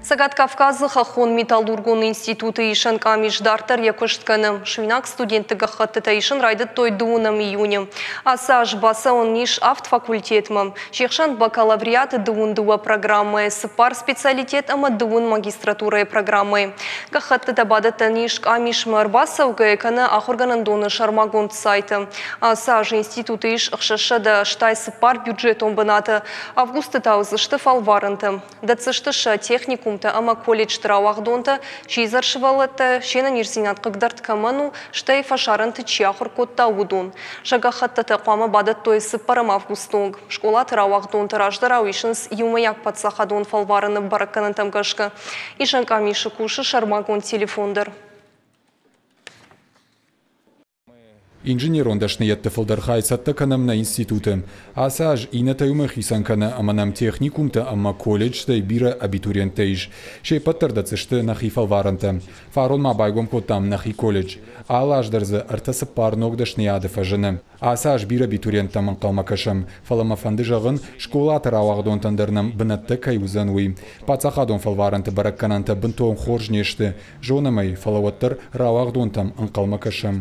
Цӕгат Кавказы хӕххон металлургон институты исӕн къамис дарддӕр йӕ куыст кӕны. Суинаг студентты гӕххӕттытӕ исын райдыдтой 12 июны. Ацы аз бацӕуӕн ис авд факультетмӕ. Се хсӕн бакалавриаты 22 программӕйы, цыппар специалитет ӕмӕ 20 магистратурӕйы программӕйы. Гӕххӕттытӕ бадӕттӕн ис къамисмӕ ӕрбацӕугӕйӕ кӕнӕ ахуыргӕнӕндоны сӕрмагонд сайты. Ацы аз институты ис 684 бюджетон бынаты. Августы та уыдзысты фӕлварӕнтӕ. Дӕтдзысты сӕ техникумтӕ ӕмӕ колледжты рауагъдонтӕ, сидзӕр сывӕллӕттӕ, се нӕниздзинад хъыгдӕрд кӕмӕн у, стӕй фӕсарӕнты чи ахуыр кодта, уыдон. Сӕ гӕххӕттытӕ хъуамӕ бадӕттой 4 августы онг. Скъолаты рауагъдонтӕ раздӕрау исынц иумӕйаг паддзахадон фӕлварӕны бӕрӕггӕнӕнтӕм гӕсгӕ. Исӕн къамисы кусы сӕрмагонд телефон дӕр. Инженерон дӕсныйӕдты фылдӕр хай цӕттӕ кӕнӕм нӕ институты. Ацы аз иннӕтӕй уымӕй хицӕн кӕны, ӕмӕ нӕм техникумтӕ ӕмӕ колледжтӕй бирӕ абитуриенттӕ ис. Се ппӕт дӕр дӕтдзысты нӕхи фӕлварӕнтӕ. Фарон ма байгом кодтам нӕхи колледж. Алы аз дӕр дзы ӕртӕ-цыппар ног дӕсныйады фӕзыны. Ацы аз бирӕ абитуриенттӕм ӕнхъӕлмӕ кӕсӕм, фӕлӕ мӕ фӕнды зӕгъын, скъолаты рауагъдонтӕн дӕр нӕм бынӕттӕ кӕй уыдзӕн, уый. Паддзахадон фӕлварӕнты бӕрӕггӕнӕнтӕ бынтон хорз не сты, зонӕм ӕй, фӕлӕ уӕддӕр рауагъдонтӕм ӕнхъӕлмӕ кӕсӕм.